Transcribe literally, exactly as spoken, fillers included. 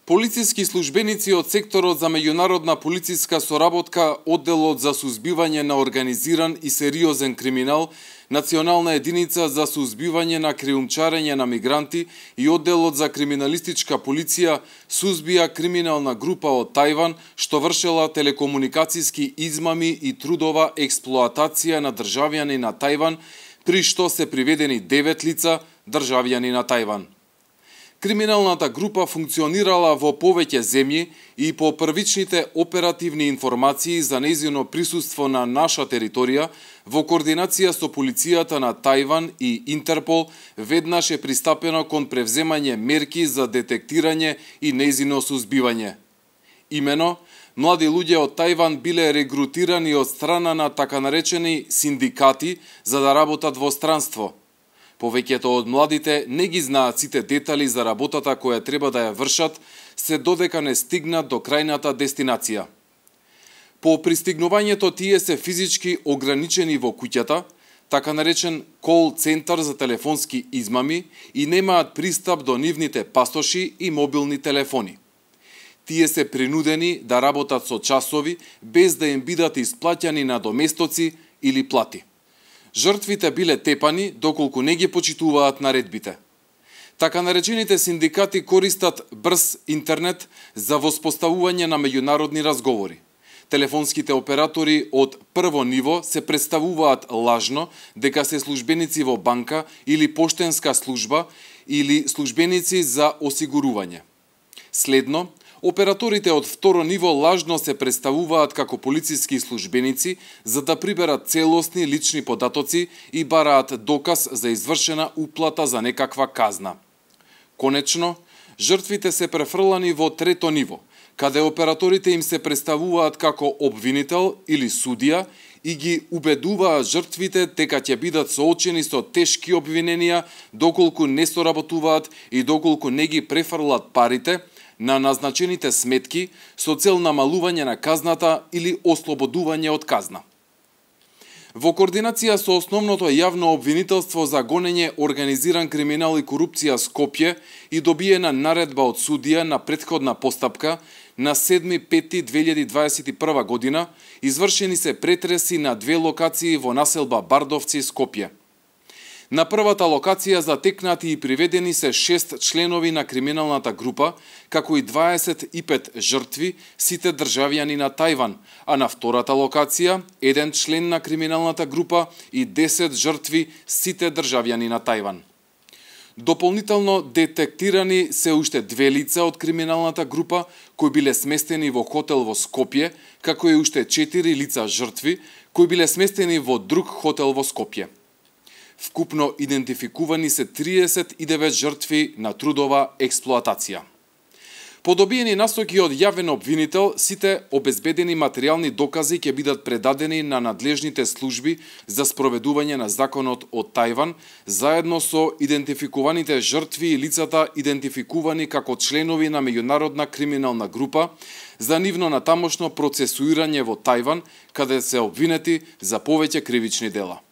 Полициски службеници од секторот за меѓународна полициска соработка, одделот за сузбивање на организиран и сериозен криминал, Национална единица за сузбивање на криумчарење на мигранти и одделот за криминалистичка полиција сузбија криминална група од Тајван што вршела телекомуникацијски измами и трудова експлоатација на државјани на Тајван, при што се приведени девет лица државјани на Тајван. Криминалната група функционирала во повеќе земји и по првичните оперативни информации за нејзино присуство на наша територија, во координација со полицијата на Тајван и Интерпол, веднаш е пристапено кон превземање мерки за детектирање и нејзино сузбивање. Имено, млади луѓе од Тајван биле регрутирани од страна на така наречени синдикати за да работат во странство. Повеќето од младите не ги знаат сите детали за работата која треба да ја вршат, се додека не стигнат до крајната дестинација. По пристигнувањето тие се физички ограничени во куќата, така наречен кол центар за телефонски измами, и немаат пристап до нивните пасоши и мобилни телефони. Тие се принудени да работат со часови, без да им бидат исплаќани надоместоци или плати. Жртвите биле тепани доколку не ги почитуваат наредбите. Така наречените синдикати користат брз интернет за воспоставување на меѓународни разговори. Телефонските оператори од прво ниво се представуваат лажно дека се службеници во банка или поштенска служба или службеници за осигурување. Следно, операторите од второ ниво лажно се представуваат како полициски службеници за да приберат целосни лични податоци и бараат доказ за извршена уплата за некаква казна. Конечно, жртвите се префрлани во трето ниво, каде операторите им се представуваат како обвинител или судија и ги убедуваат жртвите дека ќе бидат соочени со тешки обвиненија доколку не соработуваат и доколку не ги префрлат парите на назначените сметки со цел намалување на казната или ослободување од казна. Во координација со основното јавно обвинителство за гонење организиран криминал и корупција Скопје и добиена наредба од судија на претходна постапка на седми пети две илјади дваесет и прва година, извршени се претреси на две локации во населба Бардовци, Скопје. На првата локација затекнати и приведени се шест членови на криминалната група, како и дваесет и пет жртви, сите државјани на Тајван, а на втората локација еден член на криминалната група и десет жртви, сите државјани на Тајван. Дополнително детектирани се уште две лица од криминалната група кои биле сместени во хотел во Скопје, како и уште четири лица жртви кои биле сместени во друг хотел во Скопје. Вкупно идентификувани се триесет и девет жртви на трудова експлоатација. По добиени насоки од јавен обвинител, сите обезбедени материјални докази ќе бидат предадени на надлежните служби за спроведување на законот од Тајван, заедно со идентификуваните жртви и лицата идентификувани како членови на меѓународна криминална група, за нивно натамошно процесуирање во Тајван, каде се обвинети за повеќе кривични дела.